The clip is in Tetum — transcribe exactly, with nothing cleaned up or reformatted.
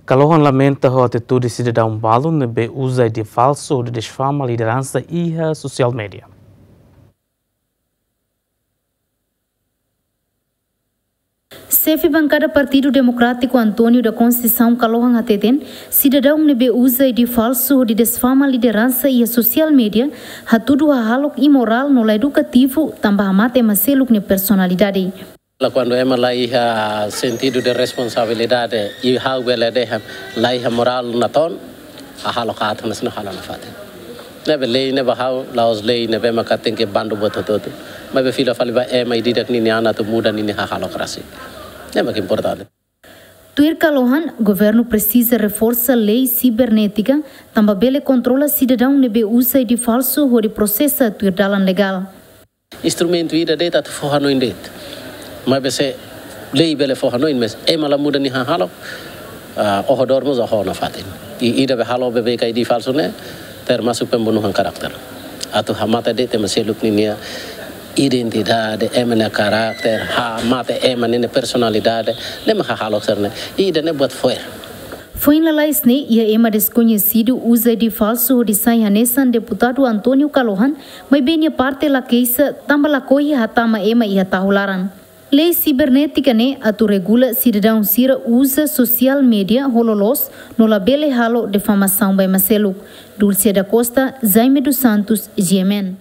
Kalohan lamenta ho atitude sidadaun balu ne'ebé uza I D falsu hodi difama lideransa iha sosiál média. Xefe bankada Partidu Demokrátiku António da Conceição Kalohan hateten, sidadaun ne'ebé uza I D falsu hodi difama lideransa iha sosiál média, hatudu hahalok imorál no la edukativu, tanba hamate ema seluk nia personalidade. La, kuandu ema la iha sentidu de responsabilidade, i ha'u bele dehan la iha morál natoon, hahalok aat hanesan ne'e halo nafatin. Ne'ebé lei ne'e ba ha'u, la'ós lei ne'ebé maka tenke bandu buat hotu-hotu. Maibé fila fali ba ema ida-idak ninia an atu muda ninia hahalok rasik. Ne'e mak importante. Tuir Kalohan, governu presiza reforsa lei sibernétika, tanba bele kontrola sidadaun ne'ebé uza I D falsu hodi prosesa tuir dalan legál. Instrumentu ida de'it atu fó hanoin de'it. Maibé se lei bele fó hanoin, mas ema la muda nia hahalok, ah, oho dor mós oho nafatin. I ida be halo beibeik I D falsu ne'e, termasuk pembunuhan karakter. Atu hamate de'it ema seluk ninia identidade, ema nia karakter, hamate ema ninia personalidade, ne'e mak hahalok sira-ne'e. I ida-ne'e buat fo'er. Foin lalais ne'e, iha ema deskoñesidu uza I D falsu hodi sai hanesan deputadu António Kalohan, maibé nia parte la keixa, tanba lakohi hatama ema iha tahu laran. Lei sibernétika ne'e atu regula sidadaun sira uza sosiál média ho loloos, no labele halo difamasaun ba ema seluk. Dulce da Costa, Jaime dos Santos, G M N.